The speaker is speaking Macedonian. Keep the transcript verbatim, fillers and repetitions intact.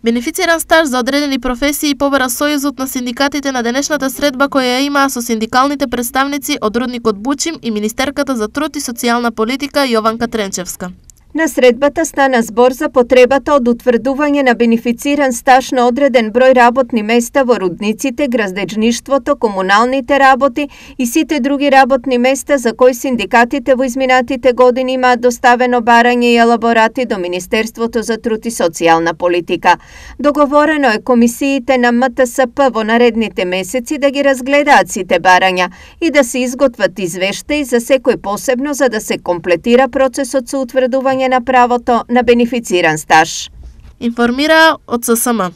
Бенефициран стаж за одредени професии побара Сојузот на синдикатите на денешната средба која ја имаа со синдикалните представници од рудникот Бучим и Министерката за труд и социјална политика Јованка Тренчевска. На средбата стана збор за потребата од утврдување на бенефициран стаж на одреден број работни места во рудниците, градежништвото, комуналните работи и сите други работни места за кои синдикатите во изминатите години имаат доставено барање и елаборати до Министерството за труд и социјална политика. Договорено е комисиите на М Т С П во наредните месеци да ги разгледаат сите барања и да се изготват извештаи за секој посебно за да се комплетира процесот со утврдување на правото на бенефициран стаж. Информира од С С М.